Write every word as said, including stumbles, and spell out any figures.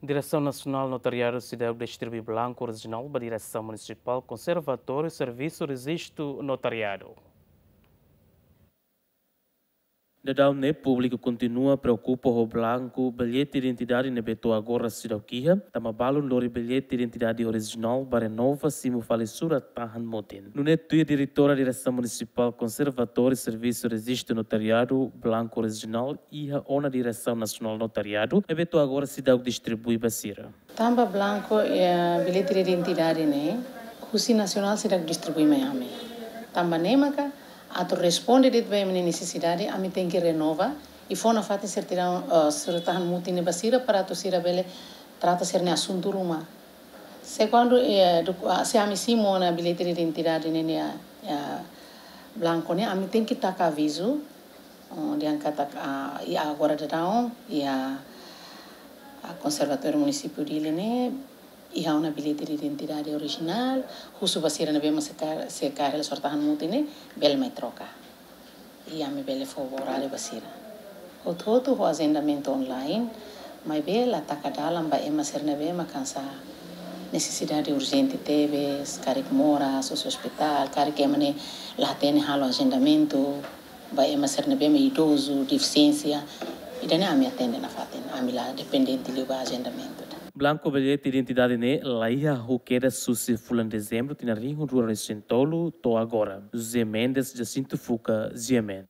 Diresaun Nasionál Notariadu seidauk distribui blanku orijinál ba Diresaun Munisipál Konservatóriu Servisu Rejistu Notariadu. Daudaun ne'e públiku kontinua preokupa ho blanku billete identidade ne'ebé to'o agora seidauk iha, tanba balun lori billete identidade orijinál ba renova simu fali surat tahan mutin. Nune'e tuir Diretora Diresaun Munisipál Konservatóriu Servisu Rejistu Notariadu, blanku orijinál iha ona Diresaun Nasionál Notariadu, ne'ebé to'o agora seidauk distribui ba sira. Tanba blanku, eh, billete de identidade ne'e, husi nasionál seidauk distribui mai ami. Tanba ne'e maka, atu responde de'it ba ema nia nesesidade, ami tenke renova, i fó nafatin sertidaun, eh, surat tahan mutin ne'e ba sira para atu sira bele trata sira-nia asuntu ruma. Se kuandu, eh, duk-, ah, se ami simu ona billete de identidade ne'e nia, eh, blanku ne'e, ami tenke taka avizu, oh, dehan katak, ah, iha agora daudaun, iha, ah, Konservatóriu Munisípiu Dili ne'e, iha ona billete de identidade orijinál, husu ba sira ne'ebé mak sei ka-, sei kaer hela surat tahan mutin ne'e, bele mai troka. I ami bele fó ba oráriu ba sira. Hotu-hotu ho ajendamentu online, maibé la taka dalan ba ema sira ne'ebé mak hanesan nesesidade urjente tebes, karik moras, husi ospitál, karik ema ne'e la hatene halo ajendamentu, ba ema sira ne'ebé mak idozu, defisiénsia, ida-ne'e ami atende nafatin, ami la dependente liu ba ajendamentu. Blanku billete identidade ne'e laiha ho kedas husi fulan Dezembru tinan rihun rua ruanulu-resin-tolu to'o agora. José Mendes, Jacinto Fuca, G M N.